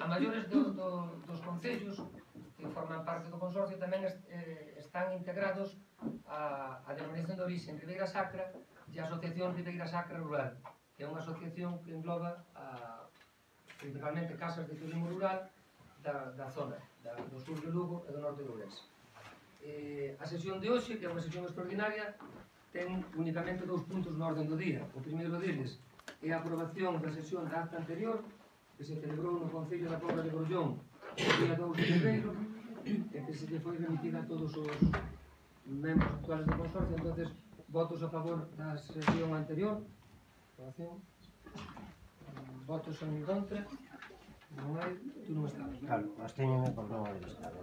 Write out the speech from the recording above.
a maiores dos concellos que forman parte do consorcio tamén están integrados a denominación de origen Ribeira Sacra e a Asociación Ribeira Sacra Rural, que é unha asociación que engloba principalmente casas de turismo rural da zona, do sur de Lugo e do norte de Ourense. A sesión de hoxe, que é unha sesión extraordinaria, ten únicamente 2 puntos na orden do día. O primeiro deles é a aprobación da sesión da acta anterior, que se celebrou no Concello da Pobra de Grollón o día 2 de febreiro, e que se lle foi remitida a todos os membros actuales do consorcio. Entonces, votos a favor da sesión anterior. Aprobación. Votos en contra. Non hai, tú non estabas. Claro, abstéñeme por non haber estado.